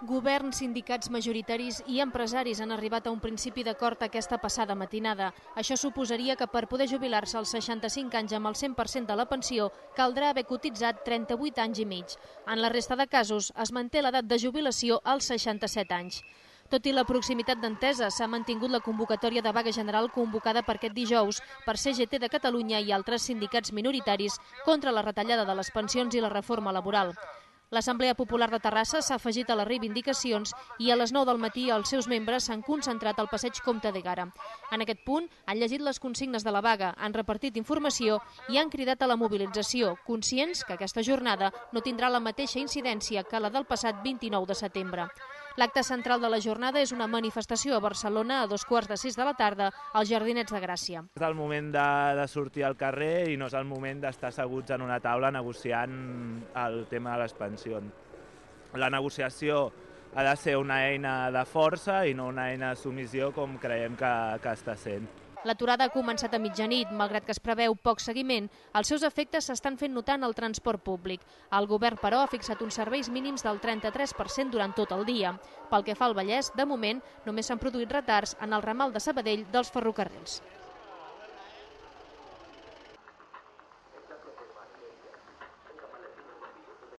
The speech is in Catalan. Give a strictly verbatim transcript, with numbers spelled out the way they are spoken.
Govern, sindicats majoritaris i empresaris han arribat a un principi d'acord aquesta passada matinada. Això suposaria que per poder jubilar-se als seixanta-cinc anys amb el cent per cent de la pensió caldrà haver cotitzat trenta-vuit anys i mig. En la resta de casos es manté l'edat de jubilació als seixanta-set anys. Tot i la proximitat d'entesa, s'ha mantingut la convocatòria de vaga general convocada per aquest dijous per C G T de Catalunya i altres sindicats minoritaris contra la retallada de les pensions i la reforma laboral. L'Assemblea Popular de Terrassa s'ha afegit a les reivindicacions i a les nou del matí els seus membres s'han concentrat al passeig Comte de Gara. En aquest punt han llegit les consignes de la vaga, han repartit informació i han cridat a la mobilització, conscients que aquesta jornada no tindrà la mateixa incidència que la del passat vint-i-nou de setembre. L'acte central de la jornada és una manifestació a Barcelona a dos quarts de sis de la tarda als Jardinets de Gràcia. És el moment de, de sortir al carrer i no és el moment d'estar asseguts en una taula negociant el tema de les pensions. La negociació ha de ser una eina de força i no una eina de submissió com creiem que, que està sent. L'aturada ha començat a mitjanit, malgrat que es preveu poc seguiment. Els seus efectes s'estan fent notar en el transport públic. El govern, però, ha fixat uns serveis mínims del trenta-tres per cent durant tot el dia. Pel que fa al Vallès, de moment, només s'han produït retards en el ramal de Sabadell dels ferrocarrils.